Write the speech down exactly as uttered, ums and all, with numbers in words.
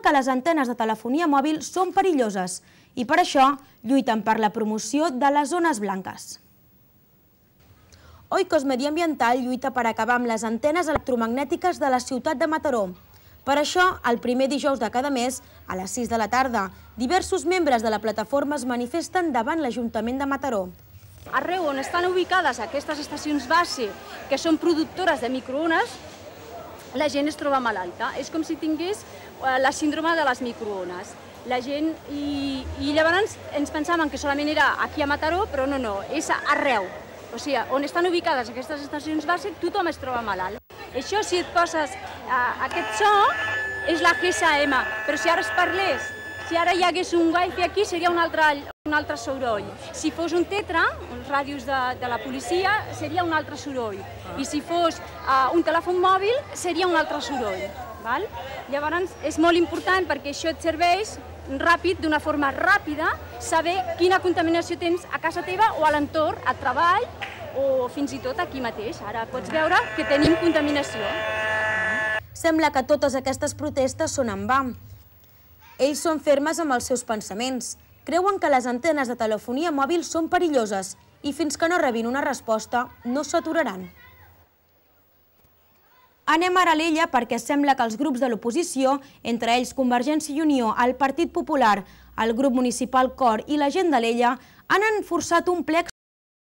que les antenes de telefonia mòbil són perilloses i per això lluiten per la promoció de les zones blanques. Oikos Mediambiental lluita per acabar amb les antenes electromagnètiques de la ciutat de Mataró. Per això, el primer dijous de cada mes, a les sis de la tarda, diversos membres de la plataforma es manifesten davant l'Ajuntament de Mataró. Arreu on estan ubicades aquestes estacions base, que són productores de microones, la gent es troba malalta. És com si tingués la síndrome de les microones. La gent, i, i llavors ens pensàvem que solament era aquí a Mataró, però no, no, és arreu. O sigui, on estan ubicades aquestes estacions base, tothom es troba malalt. Això, si et poses aquest so, és la G S M, però si ara es parlés, si ara hi hagués un wifi aquí, seria un altre, un altre soroll. Si fos un tetra, els ràdios de, de la policia, seria un altre soroll. I si fos uh, un telèfon mòbil, seria un altre soroll. Val? Llavors, és molt important perquè això et serveix ràpid, d'una forma ràpida, saber quina contaminació tens a casa teva o a l'entorn, a treball o fins i tot aquí mateix. Ara pots veure que tenim contaminació. Sembla que totes aquestes protestes són en va. Ells són fermes amb els seus pensaments. Creuen que les antenes de telefonia mòbil són perilloses i fins que no rebin una resposta no s'aturaran. Anem ara a l'Ella perquè sembla que els grups de l'oposició, entre ells Convergència i Unió, el Partit Popular, el grup municipal Cor i la gent de l'Ella, han forçat un ple